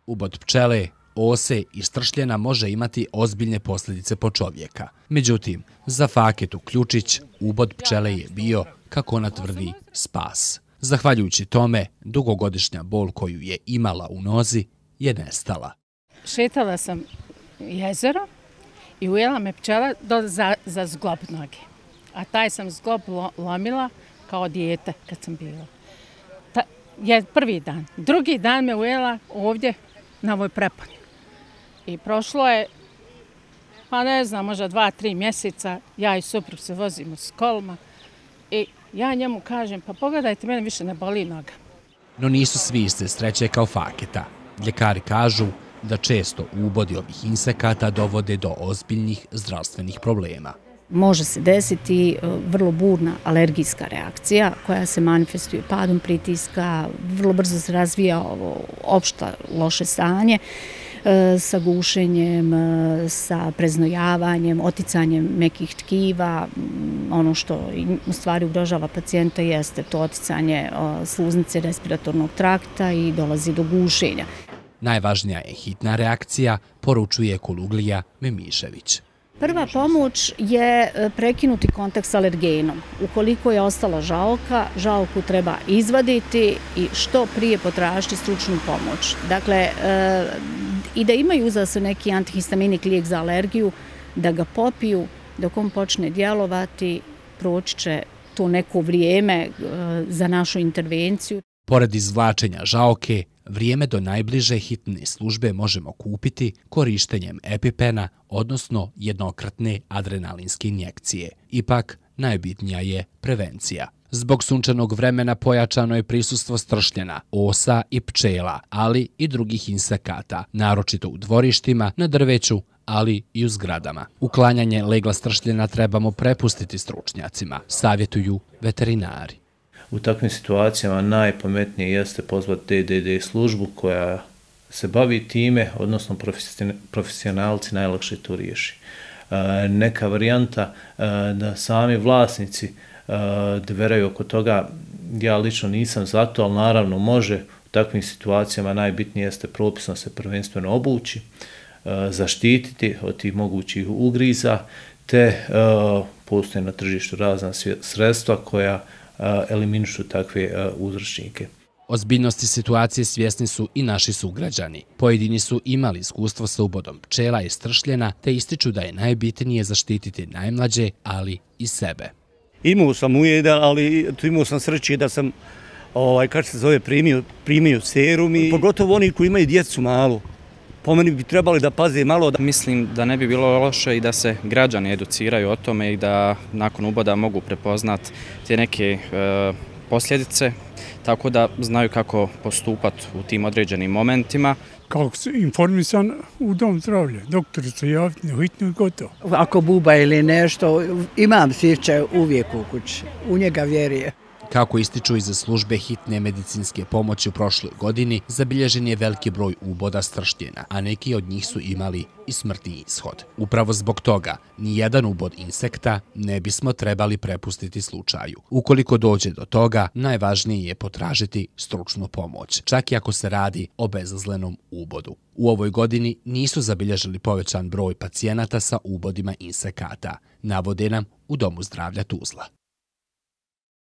Ubod pčele, ose i stršljena može imati ozbiljne posljedice po čovjeka. Međutim, za Faketu Ključić ubod pčele je bio, kako ona tvrdi, spas. Zahvaljujući tome, dugogodišnja bol koju je imala u nozi je nestala. Šetala sam jezero i ujela me pčela za zglob noge. A taj sam zglob lomila kao dijete kad sam bila. Prvi dan. Drugi dan me ujela ovdje na ovoj preponi. I prošlo je, pa ne znam, možda 2-3 mjeseca, ja i suprug se vozimo s kolima i ja njemu kažem, pa pogledajte, mene više ne boli noga. No nisu svi iste sreće kao Faketa. Ljekari kažu da često ubodi ovih insekata dovode do ozbiljnih zdravstvenih problema. Može se desiti vrlo burna alergijska reakcija koja se manifestuje padom pritiska, vrlo brzo se razvija opšta loše stanje sa gušenjem, sa preznojavanjem, oticanjem mekih tkiva. Ono što u stvari ugrožava pacijenta jeste to oticanje sluznice respiratornog trakta i dolazi do gušenja. Najvažnija je hitna reakcija, poručuje Kuluglija Memišević. Prva pomoć je prekinuti kontakt s alergenom. Ukoliko je ostala žaoka, žaoku treba izvaditi i što prije potražiti stručnu pomoć. Dakle, i da imaju uza se neki antihistaminik lijek za alergiju, da ga popiju, dok on počne djelovati, proći će to neko vrijeme za našu intervenciju. Pored izvlačenja žaoke, vrijeme do najbliže hitne službe možemo kupiti korištenjem EpiPena, odnosno jednokratne adrenalinske injekcije. Ipak, najbitnija je prevencija. Zbog sunčanog vremena pojačano je prisustvo stršljena, osa i pčela, ali i drugih insekata, naročito u dvorištima, na drveću, ali i u zgradama. Uklanjanje legla stršljena trebamo prepustiti stručnjacima, savjetuju veterinari. U takvim situacijama najpametnije jeste pozvati DDD službu koja se bavi time, odnosno profesionalci najlakše to riješi. Neka varijanta da sami vlasnici dveraju oko toga, ja lično nisam za to, ali naravno može. U takvim situacijama najbitnije jeste propisno se prvenstveno obući, zaštititi od tih mogućih ugriza, te postoje na tržištu razna sredstva koja eliminišu takve uzročnike. Ozbiljnosti situacije svjesni su i naši sugrađani. Pojedini su imali iskustvo sa ubodom pčela i stršljena, te ističu da je najbitnije zaštititi najmlađe, ali i sebe. Imao sam ujeda, ali imao sam sreće da sam, kako se zove, primio serum i pogotovo oni koji imaju djecu malu. Po meni bi trebali da paze malo. Mislim da ne bi bilo loše i da se građani educiraju o tome i da nakon uboda mogu prepoznati te neke posljedice, tako da znaju kako postupati u tim određenim momentima. Kako se informisan u dom zdravlja, doktor se javiti na hitnu i gotovo. Ako buba ili nešto, imam sirče uvijek u kući, u njega vjeruje. Kako ističu iz službe hitne medicinske pomoći u prošloj godini, zabilježen je veliki broj uboda stršljena, a neki od njih su imali i smrtni ishod. Upravo zbog toga, nijedan ubod insekta ne bismo trebali prepustiti slučaju. Ukoliko dođe do toga, najvažnije je potražiti stručnu pomoć, čak i ako se radi o bezazlenom ubodu. U ovoj godini nisu zabilježili povećan broj pacijenata sa ubodima insekata, navode nam u Domu zdravlja Tuzla.